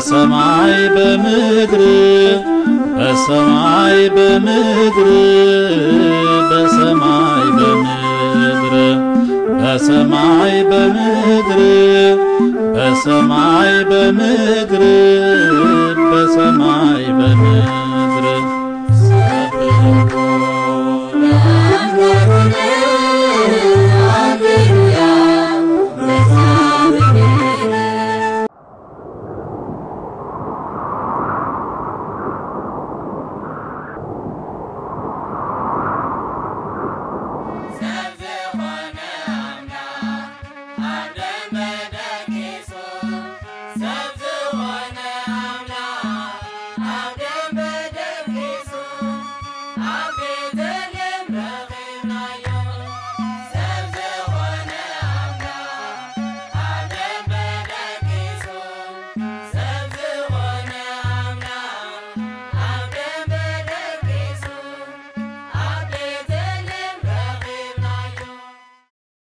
ሰማይ በምድር፣ በሰማይ በምድር፣ በሰማይ በምድር፣ በሰማይ በምድር፣ በሰማይ በምድር፣ በሰማይ በምድር።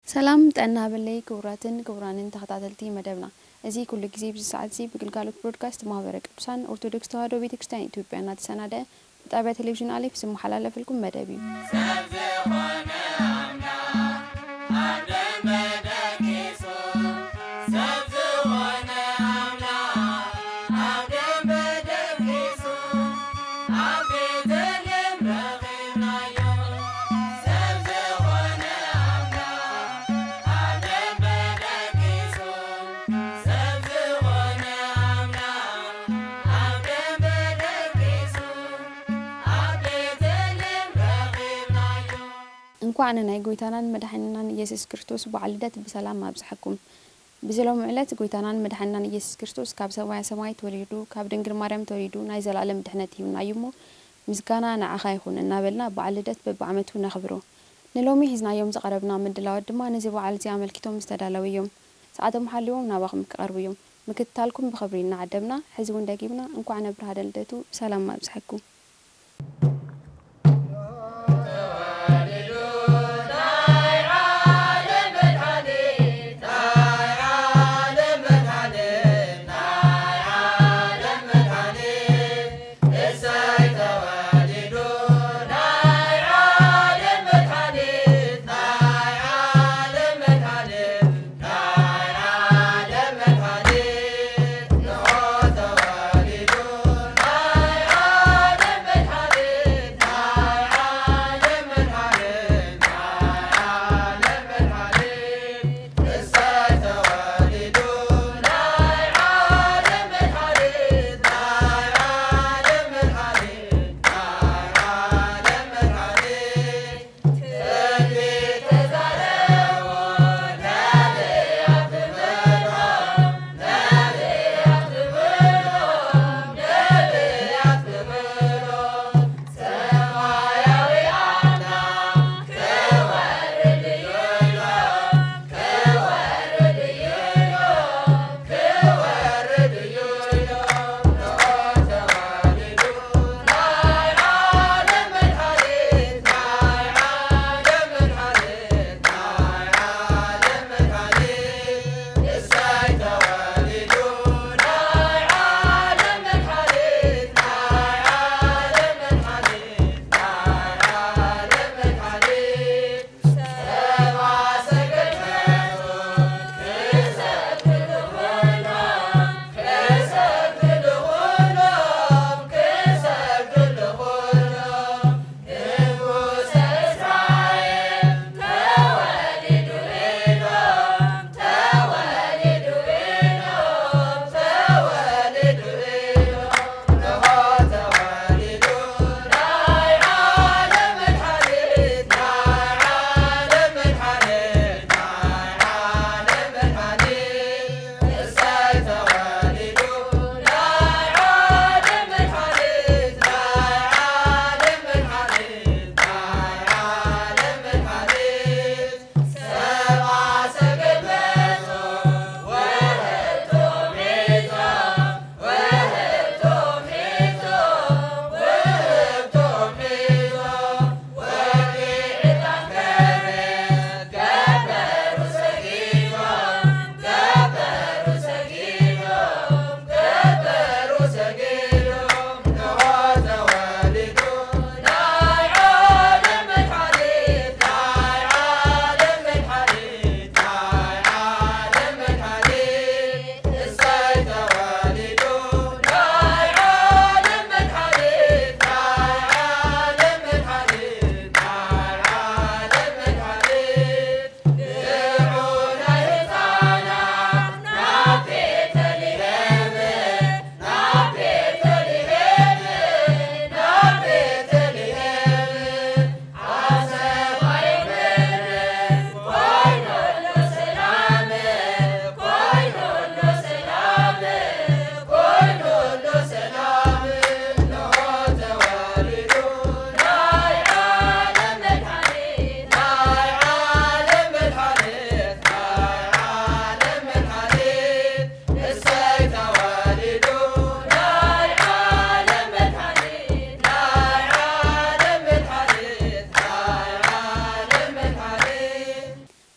ሰላም ጥዕና በለይ ክቡራትን ክቡራንን ተኸታተልቲ መደብና። እዚ ኩሉ ግዜ ብዚ ሰዓት እዚ ብግልጋሎት ብሮድካስት ማህበረ ቅዱሳን ኦርቶዶክስ ተዋህዶ ቤተክርስትያን ኢትዮጵያ እናተሰናደአ ብጣብያ ቴሌቪዥን ኣሌፍ ዝመሓላለፈልኩም መደብ እዩ። እንኳዕ ንናይ ጎይታናን መድሓኒናን ኢየሱስ ክርስቶስ በዓል ልደት ብሰላም ኣብጽሐኩም። ብዚ ሎሚ ዕለት ጎይታናን መድሓኒናን ኢየሱስ ክርስቶስ ካብ ሰማያ ሰማይ ተወሊዱ፣ ካብ ድንግል ማርያም ተወሊዱ ናይ ዘላለም ድሕነት ሂብናዩ እሞ ምስጋና ንዓኻ ይኹን እናበልና በዓል ልደት በብዓመቱ ነኽብሮ። ንሎሚ ሒዝናዮም ዝቐረብና ምድላዋት ድማ ነዚ በዓል እዚ ኣመልኪቶም ዝተዳለዉ እዮም። ሰዓቶም ሓሊዎም ናባኹም ክቐርቡ እዮም። ምክትታልኩም ብኽብሪ እናዓደምና ሕዚ እውን ደጊምና እንኳዕ ነብርሃነ ልደቱ ብሰላም ኣብጽሐኩም።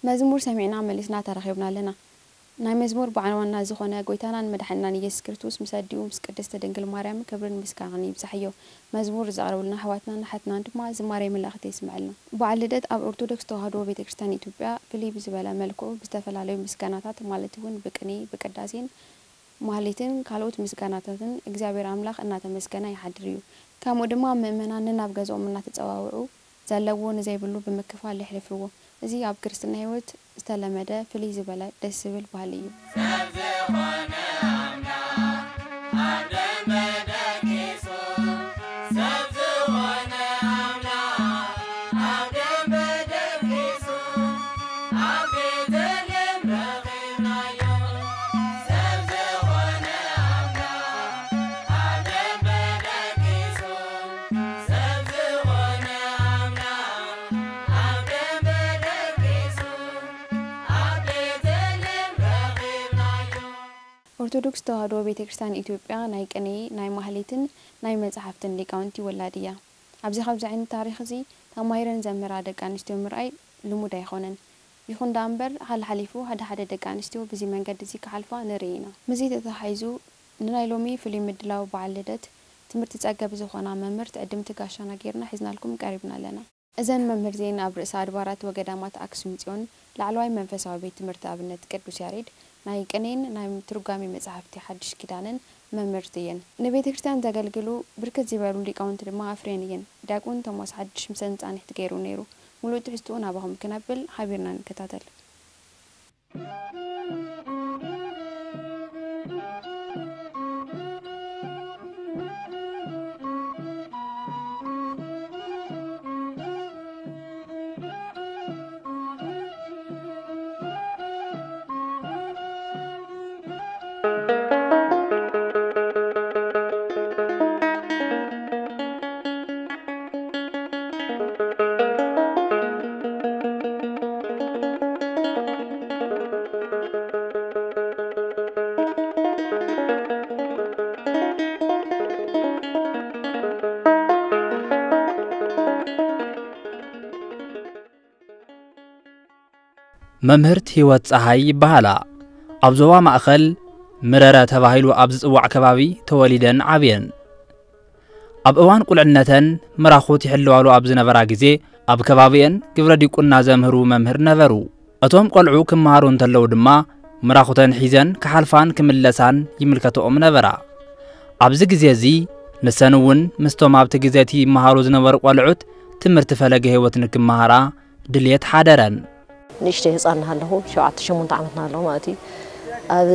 መዝሙር ሰሚዕና መሊስና ተራኺብና ኣለና። ናይ መዝሙር በዓል ዋና ዝኾነ ጎይታናን መድሓኒናን ኢየሱስ ክርስቶስ ምስ ኣዲኡ ምስ ቅድስቲ ድንግል ማርያም ክብርን ምስጋናን ይብጻሕዮ። መዝሙር ዘቕረቡልና ኣሕዋትናን ኣሓትናን ድማ ዝማሬ መላእኽቲ የስምዐልና። በዓል ልደት ኣብ ኦርቶዶክስ ተዋህዶ ቤተ ክርስቲያን ኢትዮጵያ ፍልይ ብዝበለ መልክዑ ብዝተፈላለዩ ምስጋናታት ማለት እውን ብቅኔ፣ ብቅዳሴን ማህሌትን ካልኦት ምስጋናታትን እግዚኣብሔር ኣምላኽ እናተመስገነ ይሓድር እዩ። ከምኡ ድማ ምእመናን ነናብ ገዝኦም እናተጸዋውዑ ዘለዎ ንዘይብሉ ብምክፋል የሕልፍዎ። እዚ ኣብ ክርስትና ህይወት ዝተለመደ ፍልይ ዝበለ ደስ ዝብል ባህሊ እዩ። ኦርቶዶክስ ተዋህዶ ቤተ ክርስቲያን ኢትዮጵያ ናይ ቅኔ፣ ናይ ማህሌትን ናይ መጻሕፍትን ሊቃውንቲ ወላድ እያ። ኣብዚ ከምዚ ዓይነት ታሪኽ እዚ ተማሂረን ዘምህራ ደቂ ኣንስትዮ ምርኣይ ልሙድ ኣይኾነን። ይኹን ደኣ እምበር፣ ሓልሓሊፉ ሓደ ሓደ ደቂ ኣንስትዮ ብዚ መንገዲ እዚ ክሓልፋ ንርኢ ኢና። ምስዚ ተተሓሒዙ፣ ንናይ ሎሚ ፍሉይ ምድላው በዓል ልደት ትምህርቲ ጸገብ ዝኾና መምህር ትዕድምቲ ጋሻና ጌርና ሒዝናልኩም ቀሪብና ኣለና። እዘን መምህር እዚኤን ኣብ ርእሰ ኣድባራት ወገዳማት ኣክሱም ጽዮን ላዕለዋይ መንፈሳዊ ቤት ትምህርቲ ኣብነት ቅዱስ ያሬድ ናይ ቅኔን ናይ ትርጓሜ መጻሕፍቲ ሓድሽ ኪዳንን መምህርት እየን። ንቤተ ክርስቲያን ዘገልግሉ ብርክት ዝበሉ ሊቃውንቲ ድማ ኣፍርየን እየን። ዲያቆን ቶማስ ሓድሽ ምሰን ጻንሒት ገይሩ ነይሩ። ሙሉእ ትሕዝትኡ ናባኹም ክነብል ሓቢርና ንከታተል። መምህርት ህይወት ጸሃይ ይበሃላ። ኣብ ዞባ ማእከል ምረረ ተባሂሉ ኣብ ዝጽዋዕ ከባቢ ተወሊደን ዓብየን። ኣብ እዋን ቁልዕነተን ምራኹት ይሕልዋሉ ኣብ ዝነበራ ግዜ፣ ኣብ ከባቢኤን ግብረ ዲቁና ዘምህሩ መምህር ነበሩ። እቶም ቆልዑ ክመሃሩ እንተለዉ ድማ፣ ምራኹተን ሒዘን ክሓልፋን ክምለሳን ይምልከትኦም ነበራ። ኣብዚ ግዜ እዚ፣ ንሰን እውን ምስቶም ኣብቲ ግዜ እቲ ይመሃሩ ዝነበሩ ቆልዑት ትምህርቲ ፈለገ ህይወት ንክመሃራ ድልየት ሓደረን። ንእሽተይ ህፃን እናሃለኹ፣ ሸውዓተ ሸሞንተ ዓመት እናሃለኹ ማለት እዩ፣ ኣብ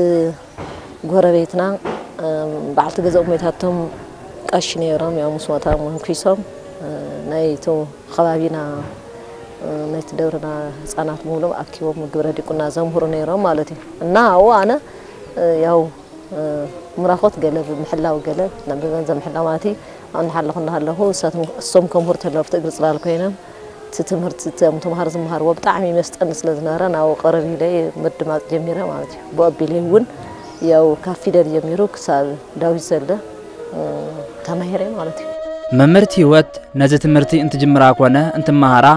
ጎረቤትና፣ እም፣ በዓልቲ ገዛኦም ሞይታቶም ቀሺ ነይሮም፣ ያው ምስ ሞታ መንኲሶም፣ እ፣ ናይቲ ከባቢና፣ እ፣ ናይቲ ደብርና ህፃናት ብምሉኦም ኣኪቦም ግብረ ዲቁና ዘምህሩ ነይሮም ማለት እዩ። እና ኣብኡ ኣነ፣ እ፣ ያው ምራኾት ገለ ብምሕላው፣ ገለ ናብ ገንዘብ ምሕላው ማለት እዩ። ኣብኡ እናሓለኹ እናሃለኹ እሳቶም፣ እሶም ከምህሩ ተለዉ ኣብቲ እግሪ ጽላል ኮይኖም፣ እቲ ትምህርቲ እቶም ተምሃሮ ዝመሃርዎ ብጣዕሚ ይመስጠኒ ስለ ዝነበረ፣ ናብኡ ቀረብ ኢለ ምድማጽ ጀሚረ ማለት እዩ። ብኡ ኣቢለ እውን ያው ካብ ፊደል ጀሚሩ ክሳብ ዳዊት ዘለ፣ እ፣ ተማሂረ ማለት እዩ። መምህርት ህይወት ነዚ ትምህርቲ እንትጅምራ ኮነ እንትመሃራ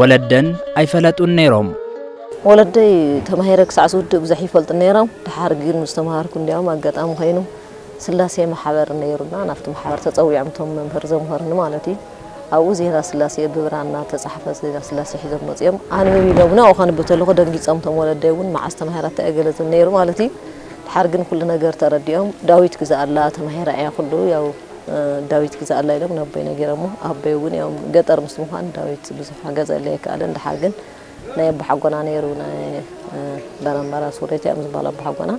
ወለደን ኣይፈለጡን ነይሮም። ወለደይ ተማሂረ ክሳዕ ዝውድእ ብዙሕ ይፈልጡ ነይሮም። ድሓር ግን ምስ ተምሃርኩ እንዲያውም ኣጋጣሚ ኮይኑ ስላሴ ማሕበር ነይሩና፣ ናብቲ ማሕበር ተጸዊዖም እቶም መምህር ዘምሃሩኒ ማለት እዩ። ኣብኡ ዜና ስላሴ ብብራና ተጻሕፈ ዜና ስላሴ ሒዞም መጺኦም። ኣንብብ ኢሎም፣ ንዕኡ ከንብብ ተለኹ ደንጊጾም እቶም ወለደይ እውን፣ መዓስ ተማሂራታ እያ ገለ ዝብል ነይሩ ማለት እዩ። ድሓር ግን ኩሉ ነገር ተረዲኦም፣ ዳዊት ግዛኣላ ተማሂራ እያ ኩሉ፣ ያው፣ እ፣ ዳዊት ግዛኣላ ኢሎም ነቦይ ነጊሮሞ፣ ኣቦይ እውን ያው ገጠር ምስ ምዃን ዳዊት ብዙሕ ክገዝኣለይ ኣይከኣለን። ድሓር ግን ናይ ኣቦሓጎና ነይሩ፣ ናይ፣ እ፣ በረምበራ ሱሬት እዮም ዝበሃሉ ኣቦሓጎና።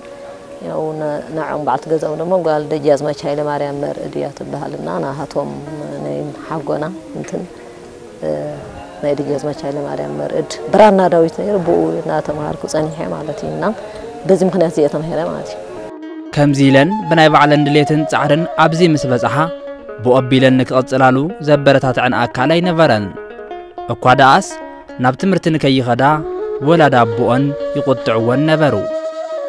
ያው ነ-፣ ንዖም በዓልቲ ገዛኦም ደሞ ጓል ደጃዝማች ሃይለማርያም መርዕድ እያ ትበሃል እና ናሃቶም ናይ ሓጎና እንትን፣ እ፣ ናይ ደጃዝማች ሃይለማርያም መርዕድ ብራና ዳዊት ነይሩ፣ ብኡ እናተምሃርኩ ጸኒሐ ማለት እዩ። እና በዚ ምኽንያት እዚ እየ ተማሂረ ማለት እዩ። ከምዚ ኢለን ብናይ ባዕለን ድሌትን ጻዕርን ኣብዚ ምስ በጽሓ፣ ብኡ ኣቢለን ንክቕጽላሉ ዘበረታትዐን ኣካል ኣይነበረን። እኳ ደኣስ፣ ናብ ትምህርቲ ንከይኸዳ ወላዲ ኣቦኦን ይቑጥዕወን ነበሩ።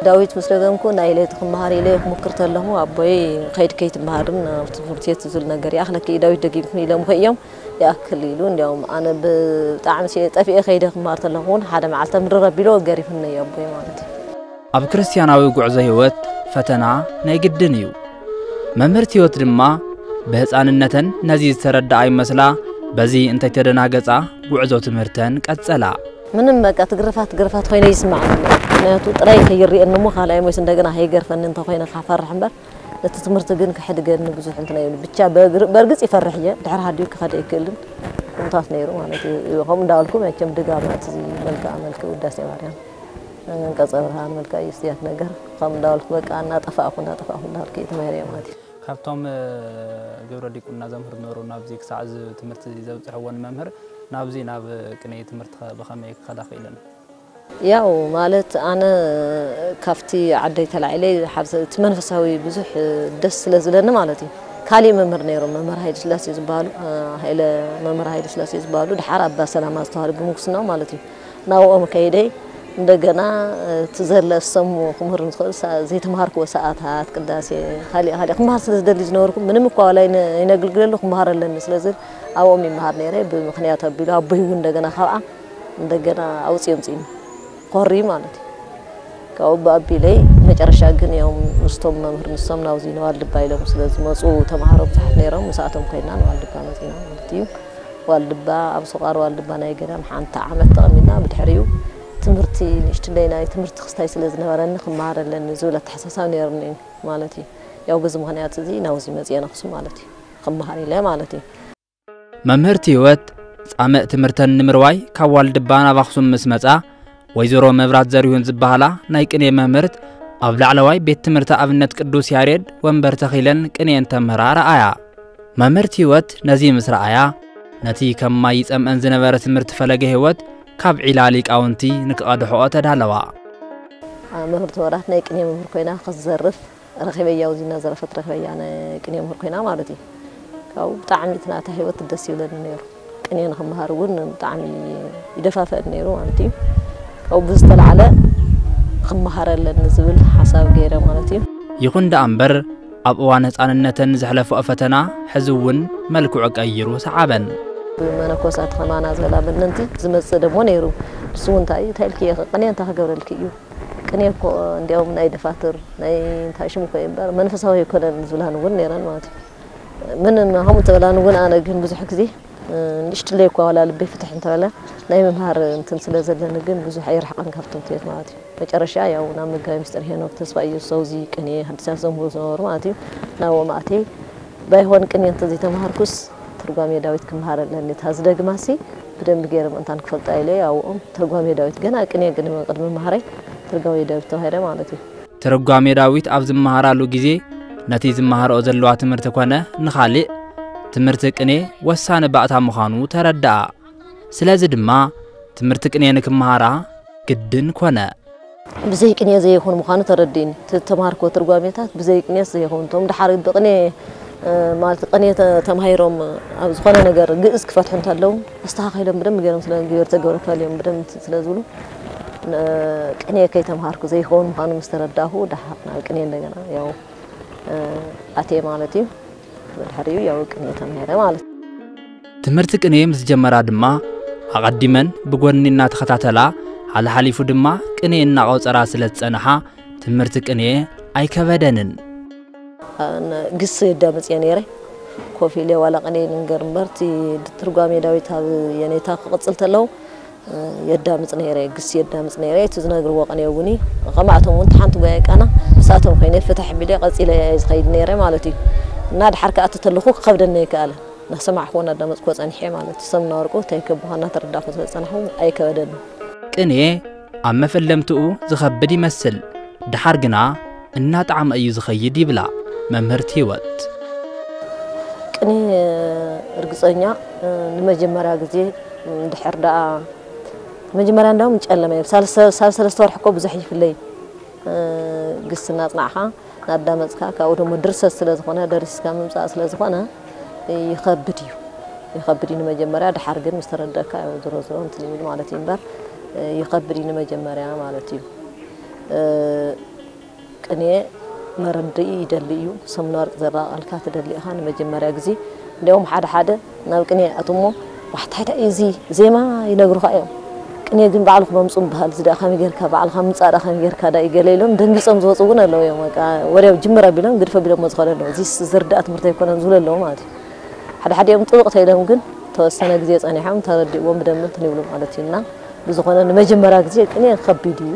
ዳዊት ምስ ደገምኩ፣ ናይ ለይቲ ክመሃር ኢለ ክሙክር ተለኹ፣ ኣቦይ፣ "ከይድ ከይትመሃርን ኣብ ትምህርቲ ቤት ዝብል ነገር ይኣኽለኪ እዩ፣ ዳዊት ደጊምኩ" ኢሎምኺ እዮም። ይኣክል ኢሉ። እንዲያውም ኣነ ብጣዕሚ ሲ ጠፊኤ ከይደ ክማር ተለኹ እውን ሓደ መዓልቲ ምርር ኣቢሉ ገሪፍኒ እዩ ኣቦይ ማለት እዩ። ኣብ ክርስትያናዊ ጉዕዞ ህይወት ፈተና ናይ ግድን እዩ። መምህርት ህይወት ድማ ብህፃንነተን ነዚ ዝተረድኣ ይመስላ። በዚ እንተይተደናገፃ ጉዕዞ ትምህርተን ቀጸላ። ምንም በቃ ትግርፋ ትግርፋት ኮይነ ይስማዕ። ምክንያቱ ጥራይ ከይርየኒ እሞ ካልኣይ ሞይስ እንደገና ከይገርፈኒ እንተኮይነ ካፈርሕ እምበር ነቲ ትምህርቲ ግን ክሕድገኒ ብዙሕ እንትና ይብሉ። ብቻ በእርግጽ ይፈርሕ እየ፣ ድሕሪ ሃዲኡ ክኸደ ይክእልን ከምታት ነይሩ ማለት እዩ። ከምኡ እንዳበልኩ መቸም ድጋም ናቲ መልክዓ መልክዕ ውዳሴ ማርያም፣ ቀጸ ብርሃን፣ መልክዓ ኢየሱስ እያት ነገር ከም እንዳበልኩ በቃ እናጠፋእኩ እናጠፋእኩ እንዳበልኩ እየ ተማሂረ ማለት እዩ። ካብቶም ግብረ ዲቁና ዘምህሩ ነበሩ ናብዚ ክሳዕ እዚ ትምህርቲ ዘብፅሕዎ ንመምህር ናብዚ ናብ ቅኔ ትምህርቲ ብኸመይ ክኸዳ ክኢለን? ያው ማለት ኣነ ካብቲ ዓደይ ተላዒለ ሓብሰ እቲ መንፈሳዊ ብዙሕ ደስ ስለ ዝለኒ ማለት እዩ። ካሊእ መምህር ነይሮም መምህር ሃይለ ስላሴ ዝበሃሉ ሃይለ መምህር ሃይለ ስላሴ ዝበሃሉ ድሓር ኣባ ሰላማ ዝተባሃሉ ብምንኩስናው ማለት እዩ። ናብኦም ከይደይ እንደገና እቲ ዘለ ሰሙ ክምህር ንዝኽእል ዘይተምሃርክዎ ሰዓታት ቅዳሴ ካሊእ ካሊእ ክምሃር ስለ ዝደሊ ዝነበርኩ ምንም እኳ ዋላ ይነግልግለሉ ክምሃር ኣለኒ ስለ ዝብል ኣብኦም ይምሃር ነይረ። ብምክንያት ኣቢሉ ኣቦይ እውን እንደገና ካብኣ እንደገና ኣውፅኦም ፅኢኒ ኮሪ ማለት እዩ። ካብኡ ብኣቢለይ መጨረሻ ግን ያው ምስቶም መምህር ንሶም ናብዚ ንዋልድባ ኢሎም ስለ ዝመፁ ተምሃሮ ብዙሓት ነይሮም። ምስኣቶም ኮይና ንዋልድባ መፂና ማለት እዩ። ዋልድባ ኣብ ሱቓር ዋልድባ ናይ ገዳም ሓንቲ ዓመት ተቐሚጥና ብድሕሪኡ ትምህርቲ ንእሽትለይ ናይ ትምህርቲ ክስታይ ስለ ዝነበረኒ ክመሃር ኣለኒ ዝብል ኣተሓሳሳብ ነይርኒ እዩ ማለት እዩ። ያው በዚ ምኽንያት እዚ ናብዚ መፅየ ነኽሱ ማለት እዩ። ክመሃር ኢለ ማለት እዩ። መምህርቲ ህይወት ጻምእ ትምህርተን ንምርዋይ ካብ ዋልድባ ናብ ኣኽሱም ምስ መጻ ወይዘሮ መብራት ዘሪሁን ዝበሃላ ናይ ቅኔ መምህርት ኣብ ላዕለዋይ ቤት ትምህርቲ ኣብነት ቅዱስ ያሬድ ወንበር ተኺለን ቅኔ እንተምህራ ረኣያ። መምህርቲ ህይወት ነዚ ምስ ረኣያ ነቲ ከም ማይ ይጸምአን ዝነበረ ትምህርቲ ፈለገ ህይወት ካብ ዒላ ሊቃውንቲ ንክቐድሕኦ ተዳለዋ። መምህርቲ ወራት ናይ ቅኔ መምህር ኮይና ክትዘርፍ ረኺበያ ኣብዚ እናዘረፈት ረኺበያ ናይ ቅኔ መምህር ኮይና ማለት እዩ። ካብኡ ብጣዕሚ እቲ ናታ ህይወት ደስ ይብለኒ ነይሩ። ቅኔ ንክመሃር እውን ብጣዕሚ ይደፋፍአኒ ነይሩ ማለት እዩ። ካብኡ ብዝተላዕለ ክመሃር ኣለኒ ዝብል ሓሳብ ገይረ ማለት እዩ። ይኹን ደኣ እምበር ኣብ እዋን ህፃንነተን ዘሕለፍኦ ፈተና ሕዚ እውን መልክዑ ቀይሩ ሰዓበን። መነኮሳት ከማና ዝበላ መነንቲ ዝመፅእ ደሞ ነይሩ። ንሱ እውን እንታይ እዩ እንታይ ኢልክዮ ቅኔ እንታይ ክገብረልኪ እዩ ቅኔ እኮ እንዲያውም ናይ ደፋትር ናይ እንታይ ሽሙ እኮ እዩ እምበር መንፈሳዊ ኣይኮነን ዝብላን እውን ነይረን ማለት እዩ። ምን ከምኡ ተበላን እውን ኣነ ግን ብዙሕ ግዜ ንእሽትለይ እኳ ዋላ ልበይ ፍትሕ እንተበለ ናይ ምምሃር እንትን ስለ ዘለኒ ግን ብዙሕ ኣይርሕቐን ካብቶም ትቤት ማለት እዩ። መጨረሻ ያው ናብ መጋቢ ምስጢር ሄኖክ ተስፋ ኢየሱስ ኣውዚ ቅኔ ሓዲሳት ዘምህሩ ዝነበሩ ማለት እዩ ናብኦም ኣትየ ባይሆን ቅኔ እንተዘይተምሃርኩስ ትርጓሜ ዳዊት ክምሃር ኣለኒ እታ ዝደግማሲ ብደንቢ ገይረ ምእንታን ክፈልጣ ኢለ ኣብኦም ትርጓሜ ዳዊት ገና ቅኔ ግን ቅድሚ ምሃረይ ትርጓሜ ዳዊት ተባሂለ ማለት እዩ። ትርጓሜ ዳዊት ኣብ ዝመሃራሉ ግዜ ነቲ ዝመሃርኦ ዘለዋ ትምህርቲ ኮነ ንኻልእ ትምህርቲ ቅኔ ወሳኒ ባእታ ምዃኑ ተረድኣ። ስለዚ ድማ ትምህርቲ ቅኔ ንክመሃራ ግድን ኮነ። ብዘይ ቅኔ ዘይኹን ምዃኑ ተረዲእኒ። እቲ ተምሃርክዎ ትርጓሜታት ብዘይ ቅኔስ ዘይኸውን። እቶም ድሓር ብቅኔ ማለት ቅኔ ተማሂሮም ኣብ ዝኾነ ነገር ግእዝ ክፈትሑ እንተለዉ ኣስተኻኺሎም ብደንብ ገይሮም ስለ ገይሩ ተገብረካ እዮም ብደንብ ስለ ዝብሉ ቅኔ ከይተምሃርኩ ዘይኸውን ምዃኑ ምስ ተረዳእኹ ድሓር ናብ ቅኔ እንደገና ያው ኣትየ ማለት እዩ። ብድሕሪኡ ያው ቅኔ ተማሂረ ማለት እዩ። ትምህርቲ ቅኔ ምስ ጀመራ ድማ ኣቐዲመን ብጎኒ እናተኸታተላ ሓልሓሊፉ ድማ ቅኔ እናቖጸራ ስለ ዝጸንሓ ትምህርቲ ቅኔ ኣይከበደንን። ግስ የዳምፅ እየ ነይረ ኮፍ ኢለ ዋላ ቅኔ ንንገር እምበር እቲ ትርጓሜ ዳዊት ኣብ የኔታ ክቕፅል ተለዉ የዳምፅ ነይረ ግስ የዳምፅ ነይረ እቲ ዝነግርዎ ቅኔ እውን ከማእቶም እውን ሓንቲ ጓያ ቃና ንሳቶም ኮይነ ፍትሕ ቢለ ቀፂለ እየ ዝኸይድ ነይረ ማለት እዩ እና ድሓር ከኣ ተተለኹ ክኸብደኒ ኣይከኣለን እናሰማዕክዎ እናዳመፅክዎ ፀኒሐ ማለት እዩ ሰምና ወርቁ እንታይ ከብኻ እናተረዳእኩ ስለ ዝፀናሕኩ ኣይከበደኒ ቅኔ ኣብ መፈለምትኡ ዝኸብድ ይመስል ድሓር ግና እናጣዕመ እዩ ዝኸይድ ይብላ መምህርት ህይወት። ቅኔ እርግፀኛ ንመጀመርያ ግዜ ድሕር ደኣ መጀመርያ እንዳውም ጨለመ እዩ። ሳብ ሰለስተ ወርሒ እኮ ብዙሕ ይፍለይ ግስና ጽናዕኻ ናዳመፅካ ካብኡ ደሞ ድርሰት ስለ ዝኾነ ደሪስካ ምምፃእ ስለ ዝኾነ ይኸብድ እዩ። ይኸብድ እዩ ንመጀመርያ ድሓር ግን ምስ ተረደእካ ያው ዝሮ ዝሮ እንትን ይብል ማለት እዩ እምበር ይኸብድ እዩ ንመጀመርያ ማለት እዩ። ቅኔ መረድኢ ይደሊ እዩ። ሰሙን ወርቂ ዘራቐልካ ትደሊ ኢኻ ንመጀመርያ ግዜ እንዲያውም ሓደ ሓደ ናብ ቅኔ ይኣትዉ እሞ፣ "ዋሕታሕታ እዚ ዜማ" ይነግሩኻ እዮም። "ቅኔ ግን ባዕልኹም ኣምጽኡ" ምበሃል፣ "እዚ ደኣ ከመይ ጌርካ፣ ባዕልኻ ምጻእ ደኣ ከመይ ጌርካ ደኣ እዩ?" ገለ ኢሎም ደንጊጾም ዝወጹ እውን ኣለዉ እዮም። በቃ ወዲያው ጅምር ኣቢሎም ግድፍ ኣቢሎሞ ዝኸዱ ኣለዉ። "እዚስ ዝርዳእ ትምህርቲ ኣይኮነን" ዝብሉ ኣለዉ ማለት እዩ። ሓደ ሓዲኦም ጥብቕ ተኢሎም ግን ተወሰነ ግዜ ጸኒሖም ተረዲእዎም ብደንቢ እንትን ይብሉ ማለት እዩ። እና ብዝኾነ ንመጀመርያ ግዜ ቅኔ ከቢድ እዩ።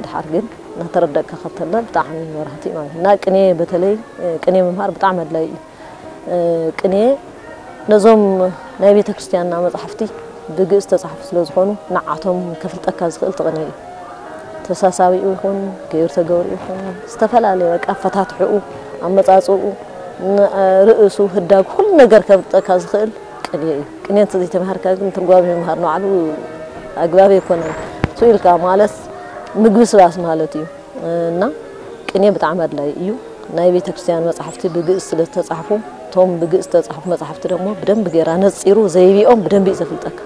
ድሓር ግን እናተረደእካ ከተለ ብጣዕሚ መብራህቲ ማለት እዩ። እና ቅኔ በተለይ፣ እ፣ ቅኔ ምምሃር ብጣዕሚ ኣድላዪ እዩ። እ፣ ቅኔ ነዞም ናይ ቤተ ክርስቲያንና መጻሕፍቲ ብግእዝ ዝተጻሕፉ ስለ ዝኾኑ ንዓቶም ከፍልጠካ ዝኽእል እቲ ቅኔ እዩ። ተሳሳቢኡ ይኹን፣ ገይሩ ተገብሩ ይኹን፣ ዝተፈላለየ በቃ ኣፈታትሕኡ፣ ኣመጻጽኡ፣ ን-፣ ርእሱ፣ ህዳግ፣ ኩሉ ነገር ከፍልጠካ ዝኽእል ቅኔ እዩ። ቅኔ እንተዘይተማሃርካ ግን ትርጓሜ ምምሃር ንባዕሉ ኣግባብ ኣይኮነን። ስኡ ኢልካ ማለት ምግብስባስ ማለት እዩ። እና ቅኔ ብጣዕሚ ኣድላዪ እዩ። ናይ ቤተ ክርስቲያን መጻሕፍቲ ብግእዝ ስለ ዝተጻሕፉ፣ እቶም ብግእዝ ዝተጻሕፉ መጻሕፍቲ ደግሞ ብደንቢ ጌራ ነጺሩ ዘይብኦም ብደንቢ እዩ ዘፍልጠካ።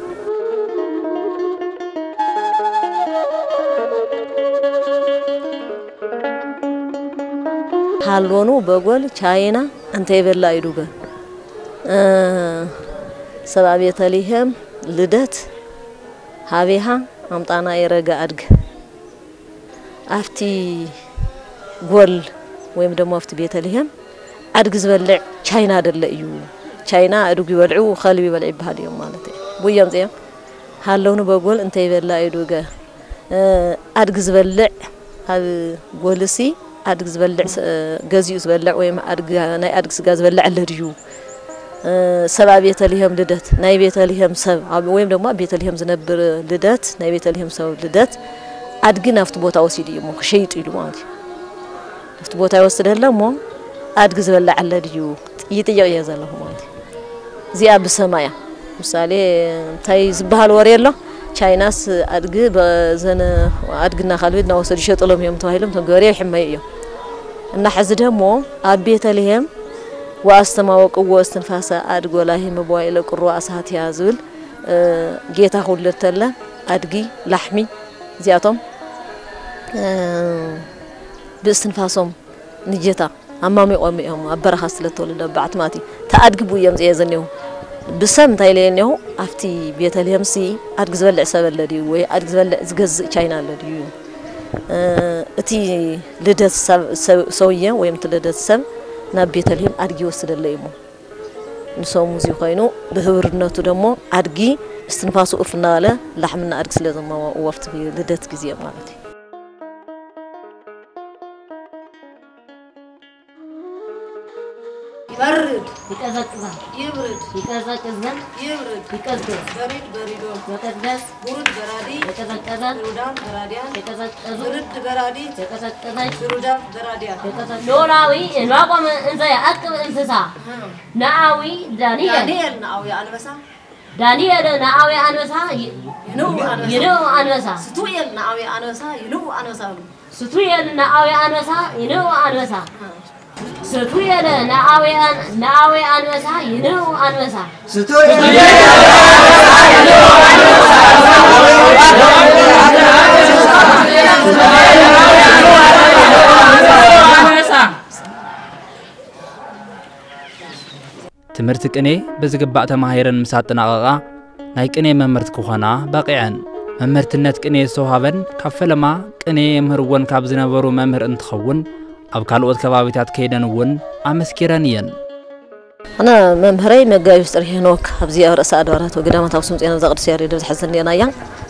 ሃሎኑ በጎል ቻይና እንተ ይበላ ኢዱገ፣ እ፣ ሰብኣ ቤተልሔም ልደት ሃቤሃ ኣምጣና የረገ ኣድግ። ኣብቲ ጎል ወይም ደግሞ ኣብቲ ቤተልሔም ኣድጊ ዝበልዕ ቻይና ደለ እዩ። ቻይና ኣድጉ ይበልዑ፣ ከልቢ ይበልዑ ይበሃል እዮም ማለት እዩ። ብኡ እዮም እዚኦም ሃለውኒ በጎል እንተ ይበላ እዩ ዱገ፣ እ፣ ኣድጊ ዝበልዕ ኣብ ጎልሲ ኣድጊ ዝበልዕ ስ-፣ ገዚኡ ዝበልዕ ወይም ኣድጊ፣ ናይ ኣድጊ ስጋ ዝበልዕ ኣለ ድዩ? እ፣ ሰብ ኣብ ቤተልሔም ልደት፣ ናይ ቤተልሔም ሰብ ኣብ፣ ወይም ደግሞ ኣብ ቤተልሔም ዝነብር ልደት፣ ናይ ቤተልሔም ሰብ ልደት ኣድጊ ናብቲ ቦታ ወሲዱ እዩ እሞ ክሸይጡ ኢሉ ማለት እዩ። ናብቲ ቦታ ይወስደለ እሞ ኣድጊ ዝበልዕ ኣለ ድዩ? ይጥይቕ እየ ዘለኹ ማለት እዩ። እዚኣ ብሰማ እያ። ምሳሌ እንታይ ዝበሃል ወሬ ኣሎ? ቻይናስ ኣድጊ በዘነ ኣድግና ካልቢ እናወሰዱ ይሸጥሎም እዮም ተባሂሎም እቶም ገበሬ ይሕመዩ እዮም። እና ሕዚ ደሞ ኣብ ቤተልሔም "ወኣስተማወቅዎ እስትንፋሰ ኣድግ ወላሂ መዋዕለ ቁሩ ኣሳትያ" ዝብል፣ እ፣ ጌታ ክውለድ ተለ ኣድጊ፣ ላሕሚ እዚኣቶም፣ እ፣ ብእስትንፋሶም ንጌታ ኣማሚቖም እዮም ኣብ በረኻ ስለ ተወለደ ኣባዕቲ ማለት እዩ። እቲ ኣድጊ ብኡ እዮም ዝእየ ዘኔው። ብሰብ እንታይ ኢለ እኔኹ፣ ኣብቲ ቤተልሔምሲ ኣድጊ ዝበልዕ ሰብ ኣለ ድዩ? ወይ ኣድጊ ዝበልዕ ዝገዝእ ቻይና ኣለ ድዩ? እ፣ እቲ ልደት ሰብ-፣ ሰብ-፣ ሰውየ ወይም እቲ ልደት ሰብ ናብ ቤተልሔም ኣድጊ ይወስደለ እዩ እሞ። ንሶም እዚ ኮይኑ ብህብርነቱ ደሞ ኣድጊ እስትንፋሱ እፍ እናበለ ላሕምና ኣድጊ ስለ ዘማዋእዎ ኣብቲ ልደት ግዜ ማለት እዩ። ይበርድ፣ ይቀዘቅዛል፣ ይብርድ፣ ይቀዘቅዝን ይብርድ፣ ይቀዝቅዝ፣ በሪድ በሪዶ፣ ይቀዝቀዝ፣ ብሩድ በራዲ፣ ይቀዘቀዘ፣ ብሩዳን በራዲያን፣ ይቀዘቀዙ፣ ብርድ በራዲት፣ ይቀዘቀዘች፣ ብሩዳን በራዲያን። ይቀዘቀ-፣ ኖላዊ እንባቆም እንዘ ያዕቅብ እንስሳ፣ እም። ነአዊ ዳንኤል፣ ዳንኤል ነአዊ ኣንበሳ፣ ዳንኤል ነአዊ ኣንበሳ ይ-፣ ይንኡ ኣንበሳ፣ ይንኡ ኣንበሳ። ስቱኤል ነአዊ ኣንበሳ ይንኡ ኣንበሳ በሉ። ስቱኤል ነአዊ ኣንበሳ ይንኡ ኣንበሳ። ስቱኤል ነአዊ ኣን-፣ ነአዊ ኣንበሳ ይንኡ ኣንበሳ። ትምህርቲ ቅኔ ብዝግባእ ተማሂረን ምስ ኣጠናቐቓ፣ ናይ ቅኔ መምህርት ክኾና በቒዐን። መምህርትነት ቅኔ ዝተውሃበን ካብ ፈለማ ቅኔ የምህርወን ካብ ዝነበሩ መምህር እንትኸውን፣ ኣብ ካልኦት ከባቢታት ከይደን እውን ኣመስኪረን እየን። ኣነ መምህረይ መጋቢ ፍጥሪ ሄኖክ ኣብዚ ኣብ ርእሰ ኣድባራት ወገዳማት ኣክሱም ጽዮን ኣብዛ ቅዱስ ያሬድ ኣብዚ ሕዚ እኒአናያ፣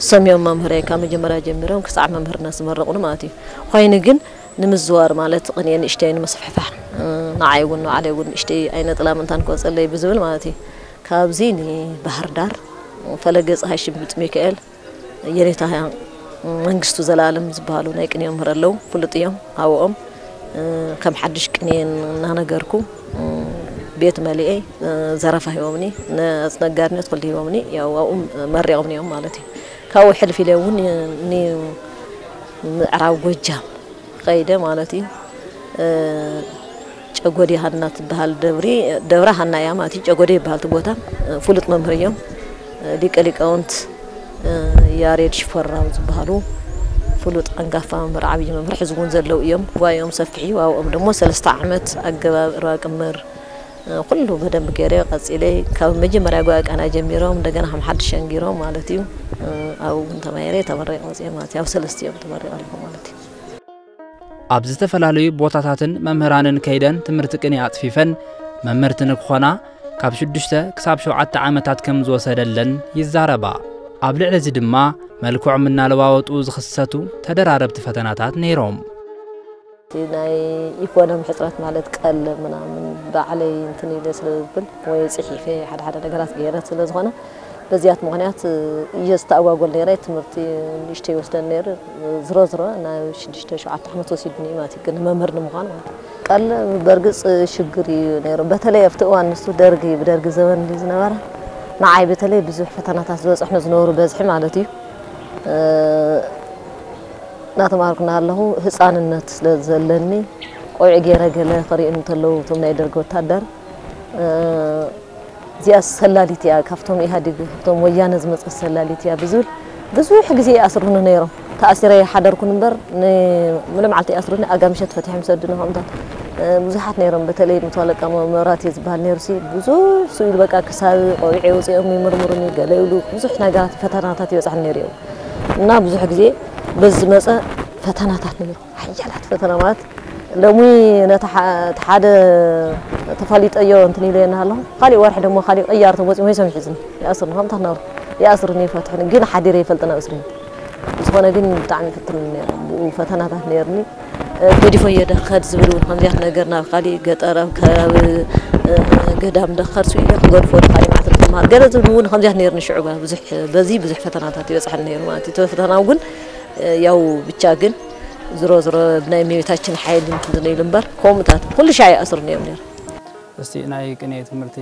እሶም እዮም መምህረይ ካብ መጀመርያ ጀሚሮም ክሳዕ መምህርነት ዝመረቑኒ ማለት እዩ። ኮይኑ ግን ንምዝዋር ማለት ቅኔ ንእሽተይ ንምስፍሕፋሕ፣ እ፣ ንዓይ እውን ንባዕለይ እውን ንእሽተይ ኣይነ ጥላም እንታን ክወፀለይ ብዝብል ማለት እዩ። ካብዚ ንባህር ዳር ፈለገ ፀሃይ ሽምብጥ ሚካኤል የኔታ መንግስቱ ዘላለም ዝበሃሉ ናይ ቅኔ መምህር ኣለዉ፣ ፍሉጥ እዮም። ኣብኦም፣ እ፣ ከም ሓድሽ ቅኔ እናነገርኩ፣ እ፣ ቤት መሊኤ፣ እ፣ ዘረፋ ሂቦምኒ፣ ነ-፣ ነጋድነት ኩሉ ሂቦምኒ፣ ያው ኣብኡ መሪቖምኒ እዮም ማለት እዩ። ካብኡ ሕልፍ ኢለ እውን ን-፣ ምዕራብ ጎጃም ኸይደ ማለት እዩ። እ፣ ጨጎዴ ሃና ትበሃል ደብሪ፣ ደብረ ሃና እያ ማለት እዩ። ጨጎዴ ይበሃል እቲ ቦታ። እ፣ ፍሉጥ መምህር እዮም። እ፣ ሊቀ ሊቃውንት፣ እ፣ ያሬድ ሽፈራው ዝበሃሉ ፍሉጥ ኣንጋፋ መምህር፣ ዓብዪ መምህር፣ ሕዚ እውን ዘለዉ እዮም። ጉባኤኦም ሰፊሕ እዩ። ኣብኦም ደሞ ሰለስተ ዓመት ኣገባብ ርባ ቅምር፣ ኩሉ በደንብ ገይረ ቀጺለ ካብ መጀመርያ ጓቃና ጀሚሮም እንደገና ከም ሓድሽ ሸንጊሮም ማለት እዩ። ኣብኡ እውን ተማሂረ ተመሪቐ ወፅየ ማለት እዩ። ኣብ ሰለስቲኦም ተመሪቐ ኣለኹ ማለት እዩ። ኣብ ዝተፈላለዩ ቦታታትን መምህራንን ከይደን ትምህርቲ ቅኔ ኣጽፊፈን መምህርቲ ንክኾና ካብ ሽዱሽተ ክሳብ ሸውዓተ ዓመታት ከም ዝወሰደለን ይዛረባ። ኣብ ልዕሊ እዚ ድማ መልክዖም እናለዋወጡ ዝኽሰቱ ተደራረብቲ ፈተናታት ነይሮም። ናይ ኢኮኖሚ ሕፅረት ማለት ቀለ ምናምን ባዕለይ እንትን ኢለ ስለ ዝብል ወይ ፅሒፈ ሓደ ሓደ ነገራት ገይረ ስለ ዝኾነ በዚያት ምኽንያት እየ ዝተኣጓጎል ነይረ። ትምህርቲ ንእሽተይ ይወስደን ነይሩ። ዝሮ ዝሮ ናብ ሽዱሽተ ሸውዓተ ዓመት ወሲድኒ ማለት እዩ፣ ግን መምህር ንምዃን ማለት እዩ። ቀለ በርግፅ ሽግር እዩ ነይሩ። በተለይ ኣብቲ እዋን ንሱ ደርጊ፣ ብደርጊ ዘበን ድዩ ዝነበረ፣ ንዓይ በተለይ ብዙሕ ፈተናታት ዝበፅሕኒ ዝነበሩ በዝሒ ማለት እዩ። እናተማሃርኩ እናሃለኹ ህፃንነት ስለ ዘለኒ ቆቢዕ ገይረ ገለ ክሪኡኒ እንተለዉ እቶም ናይ ደርጊ ወታደር፣ እዚኣ ሰላሊት እያ፣ ካብቶም ኢህኣዴግ ካብቶም ወያነ ዝመፀት ሰላሊት እያ ብዝብል ብዙሕ ግዜ ይኣስሩኒ ነይሮም። ተኣሲረ ይሓደርኩን እምበር ንሙሉእ መዓልቲ ይኣስሩኒ፣ ኣጋምሸት ፈቲሖም ይሰዱኒ ከምታት ብዙሓት ነይሮም። በተለይ መቶ ኣለቃ መብራህቴ ዝበሃል ነይሩ ሲ ብዙሕ ስኢሉ በቃ ክሳብ ቆቢዐ ውፅኦም ይምርምሩኒ፣ ገለ ይብሉ፣ ብዙሕ ነገራት ፈተናታት ይበፅሓኒ ነይሩ እዩ። እና ብዙሕ ግዜ በዚ ዝመፀ ፈተናታት ነይሩ፣ ሓያላት ፈተና ማለት ሎሚ ነቲ ሓደ ተፋሊጠዮ እንትን ኢለ እናሃለኹ ካሊእ ወርሒ ደሞ ካሊእ ቅያር ተመፂኡ ወይ ሰሚሒዝኒ ይኣስርኒ ከምታት ናብሩ ይኣስርኒ ይፈትሕኒ ግን ሓዲረ ይፈልጥና እስርኒ። ዝኾነ ግን ብጣዕሚ ይፍትኑኒ ነይሮም፣ ብኡ ፈተናታት ነይርኒ። ገዲፎዮ ደኸድ ዝብል እውን ከምዚያት ነገር ናብ ካሊእ ገጠር ኣብ ከባቢ ገዳም ደኸድ ስኢለ ክገድፎ ንካሊእ ማዕተብ ዝመሃር ገለ ዝብል እውን ከምዚያት ነይርኒ። ሽዑ ብዙሕ በዚ ብዙሕ ፈተናታት ይበፅሐኒ ነይሩ ማለት እዩ። እቲ ፈተናው ግን ያው ብቻ ግን ዝሮ ዝሮ ብናይ እመቤታችን ሓይሊ እንትን ኢሉ እምበር ከምኡታት ኩሉ ሻዕ ይኣስርኒ እዮም ነይሩ። እስቲ ናይ ቅኔ ትምህርቲ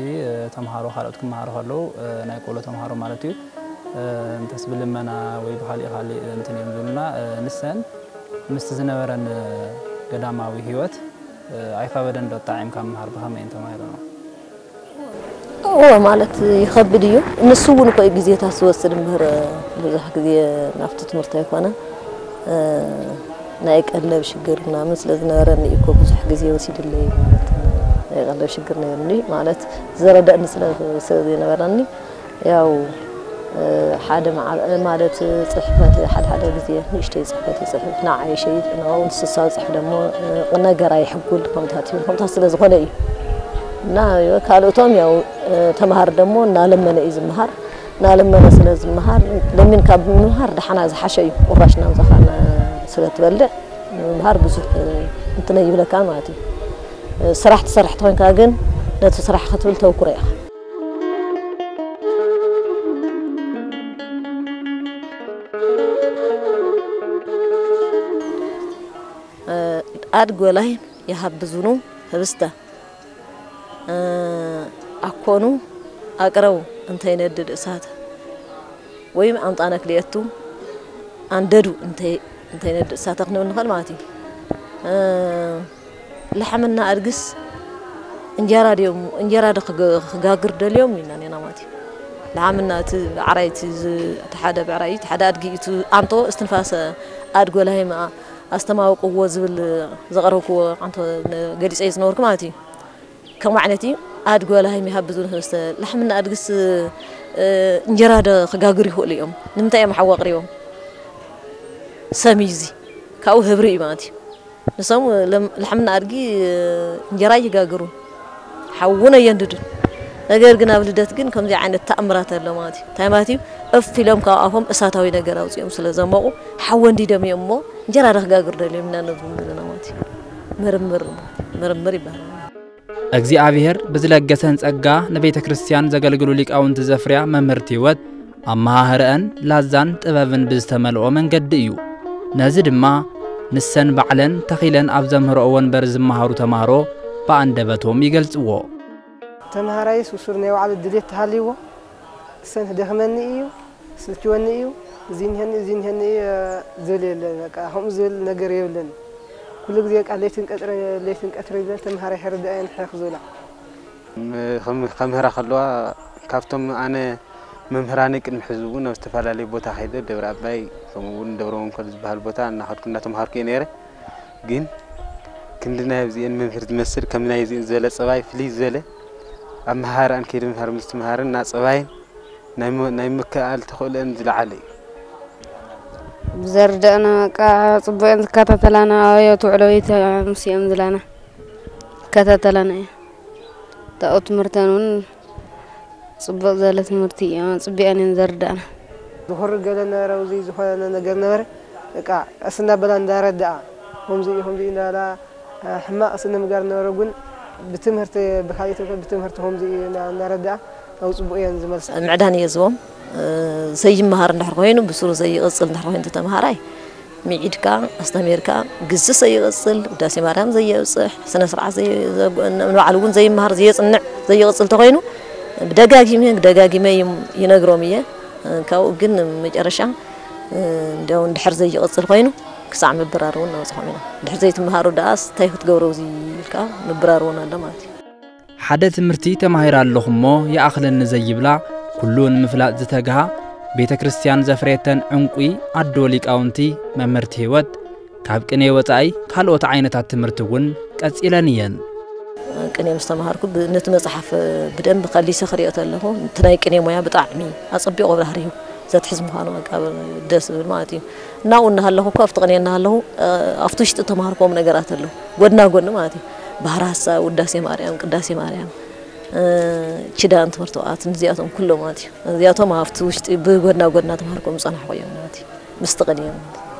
ተምሃሮ ካልኦት ክመሃሩ ከለዉ ናይ ቆሎ ተምሃሮ ማለት እዩ እንተስ ብልመና ወይ ብካሊእ ካሊእ እንትን እዮም ዝብሉና። ንሰን ምስቲ ዝነበረን ገዳማዊ ህይወት ኣይኸበደን ዶ? ኣጣዒምካ ምምሃር ብኸመይ እንተማሂሩ ነው? እዎ ማለት ይኸብድ እዩ። ንሱ እውን እኮ እዩ ግዜታት ዝወስድ እምበር ብዙሕ ግዜ ናብቲ ትምህርቲ ኣይኮነ ናይ ቀለብ ሽግር ምናምን ስለ ዝነበረኒ እዩ እኮ ብዙሕ ግዜ ወሲድለይ ማለት ናይ ቀለብ ሽግር ነይሩኒ ማለት ዝረደእኒ ስለ ስለ ዘይነበረኒ ያው ሓደ መዓ- ማለት ፅሕፈት ሓደ ሓደ ግዜ ንእሽተይ ፅሕፈት ይፅሕፍ ንዓይ ይሸይጥ ንኡ ንስሳ ዝፅሕፍ ደሞ ነገር ኣይሕጉል ከምታት እዩ ከምታት ስለ ዝኾነ እዩ እና ካልኦቶም ያው ተምሃር ደሞ እናለመነ እዩ ዝምሃር እናለመነ ስለ ዝምሃር ለሚንካ ብምምሃር ደሓና ዝሓሸ እዩ ቁራሽ እናምፃኻ ስለ ትበልዕ ምምሃር ብዙሕ እንትን ኣይብለካ ማለት እዩ ስራሕ ትሰርሕ ተኾንካ ግን ነቲ ስራሕ ክትብል ተውክሮ ኢኻ ኣድጎ ላይም ይሃብዙኑ ህብስተ ኣኮኑ ኣቅረቡ እንተይነድድ እሳተ ወይም ኣምጣነ ክልኤቱ ኣንደዱ እንተይነድድ እሳተ ክንብል ንኽእል ማለት እዩ። ላሕምና ኣድግስ እንጀራ ድዮም እንጀራ ዶ ክጋግር ደልዮም ኢልና ኔና ማለት እዩ። ላሕምና እቲ ብዕራይ እቲ ሓደ ብዕራይ እቲ ሓደ ኣድጊ እቲ ኣንቶ እስትንፋሰ ኣድጎ ላይም ኣስተማውቅዎ ዝብል ዘቕረብክዎ ኣንቶ ገሊፀ ዝነበርኩ ማለት እዩ። ከምኡ ዓይነት እዩ ኣድጎ ላይም ይሃብዙ ንክልስተ ላሕምና ኣድግስ እንጀራ ዶ ክጋግሩ ይኽእሉ እዮም ንምንታይ እዮም ሓዊ ኣቕሪቦም ሰም እዩ እዚ ካብኡ ህብሪ እዩ ማለት እዩ ንሶም ላሕምና ኣድጊ እንጀራ ይጋግሩ ሓዊ እውን ኣየንድዱን ነገር ግን ኣብ ልደት ግን ከምዚ ዓይነት ተኣምራት ኣሎ ማለት እዩ እንታይ ማለት እዩ እፍ ኢሎም ካብ ኣፎም እሳታዊ ነገር ኣውፅኦም ስለ ዘሞቑ ሓዊ ኣንዲዶም እዮም እሞ እንጀራ ዶ ክጋግሩ ደልዮም ኢና ንብል ዘለና ማለት እዩ ምርምር ምርምር ይበሃል እግዚኣብሔር ብዝለገሰን ጸጋ ንቤተ ክርስቲያን ዘገልግሉ ሊቃውንቲ ዘፍርያ መምህርት ሕይወት ኣመሃህረአን ላዛን ጥበብን ብዝተመልኦ መንገዲ እዩ። ነዚ ድማ ንሰን ባዕለን ተኺለን ኣብ ዘምህረኦ ወንበር ዝመሃሩ ተማህሮ ብኣንደበቶም ይገልጽዎ። ተምሃራይስ ውሱር ናይ ባዕሉ ድሌት ተሃልይዎ እሰን ክደኽመኒ እዩ ስልችወኒ እዩ እዚ ንሄኒ እዚ ንሄኒ እዩ ዝብል የለ በቃ ከምኡ ዝብል ነገር የብልን ኩሉ ግዜ በቃ ለይትን ቀትረ ለይትን ቀትረ ይበል ተምሃራይ ሕርድኣየን ሕኽ ዝብላ ከምህራ ከለዋ ካብቶም ኣነ መምህራነይ ቅድሚ ሕዚ እውን ኣብ ዝተፈላለዩ ቦታ ከይደ ደብረ ኣባይ ከምኡ እውን ደብረ መንኮል ዝበሃል ቦታ እናኸድኩ እናተምሃርኩ እየ ነይረ ግን ክንዲ ናይ ኣብዚኤን መምህር ዝመስል ከም ናይ እዚኤን ዝበለ ፀባይ ፍልይ ዝበለ ኣብ መሃራን ከይዲ ምምሃር ምስትምሃርን ናፅባይን ናይ ም- ናይ ምክኣል ተኽእሎን ዝለዓለ እዩ። ብዘርደእና በቃ ጽቡቕን ዝከታተላና ኣዮ ትውዕሎ ይተ ምስኦም ዝላና ይከታተላና እየ። ታኡ ትምህርተን እውን ጽቡቕ ዘለ ትምህርቲ እዮም ጽቢቐን እየን ዘርዳእና። ዝኹሪ ገለ ነበረ ውዚ ዝኾነ ነገር ነበረ በቃ ቀስ እናበላ እንዳረዳኣ ከምዚ እዩ ከምዚ እዩ እንዳበላ ሕማቕ ስነ ምግባር ነበረ ግን ብትምህርቲ ብካሊእ ተኮ ብትምህርቲ ከምዚ እዩ እናረዳኣ ናብ ጽቡቕ እየን ዝመልሳ። ምዕዳን እየ ዝቦም ዘይመሃር እንድሕር ኮይኑ ብስሩ ዘይቕፅል እንድሕር ኮይኑ ተመሃራይ ሚዒድካ ኣስተሚርካ ግዚ ዘይቕፅል ውዳሴ ማርያም ዘየብፅሕ ስነ ስርዓት ንባዕሉ እውን ዘይመሃር ዘየፅንዕ ዘይቕፅል ተኮይኑ ብደጋጊመ ደጋጊመ ይነግሮም እየ። ካብኡ ግን መጨረሻ እንዲያው እንድሕር ዘይቕፅል ኮይኑ ክሳዕ ምብራር እውን ነብፅሖም ኢና። እንድሕር ዘይትምሃሩ ደኣስ እንታይ ክትገብሩ እዚ ኢልካ ምብራር እውን ኣሎ ማለት እዩ። ሓደ ትምህርቲ ተማሂረ ኣለኹ እሞ ይኣኽለኒ ዘይብላ ኩሉ ንምፍላጥ ዝተግሃ ቤተ ክርስቲያን ዘፍረየተን ዕንቁ ኣዶ ሊቃውንቲ መምህርቲ ህይወት ካብ ቅኔ ወፃኢ ካልኦት ዓይነታት ትምህርቲ እውን ቀፂለን እየን። ቅኔ ምስ ተምሃርኩ ነቲ መፅሓፍ ብደንብ ከሊሰ ክሪኦ ተለኹ እቲ ናይ ቅኔ ሞያ ብጣዕሚ ኣፀቢቑ ብራህሪሁ ዘትሕዝ ምዃኑ በቃ ደስ ዝብል ማለት እዩ። እናብኡ እናሃለኹ እኮ ኣብቲ ቅኔ እናሃለኹ ኣብቲ ውሽጢ ተምሃርክዎም ነገራት ኣለዉ ጎድና ጎኒ ማለት እዩ። ባህሪ ሀሳብ፣ ውዳሴ ማርያም፣ ቅዳሴ ማርያም፣ ኪዳን ትምህርቲ ኦኣት እዚኣቶም ኩሎም ማለት እዩ። እዚኣቶም ኣብቲ ውሽጢ ብጎድና ጎድና ተምሃርክዎም ዝፀናሕኩ እዮም ማለት እዩ። ምስቲ ቅኔ ማለት እዩ።